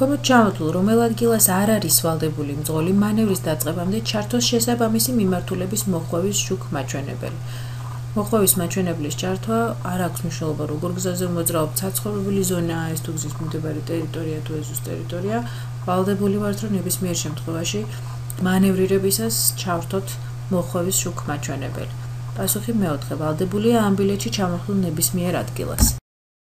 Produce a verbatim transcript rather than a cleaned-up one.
ქვემოთ ჩამოთვლილ რომელ ადგილას არ არის ვალდებული მძღოლი მანევრის დაწყებამდე ჩართოს შესაბამისი მიმართულების მოხვევის შუქ მაჩვენებელი. მოხვევის მაჩვენებლის ჩართვა არ აქვს მნიშვნელობა როგორ გზაზე მოძრაობ ცაცხოვებული ზონაა ეს თუ გზის მიმდებარე ტერიტორია თუ ეზოს ტერიტორია ვალდებული ვართ რომ ნებისმიერ შემთხვევაში მანევრირებისას ჩავრთოთ მოხვევის შუქ მაჩვენებელი. პასუხი მეოთხე ვალდებულია ამ ბილეთში ჩამოთვლილ ნებისმიერ ადგილას.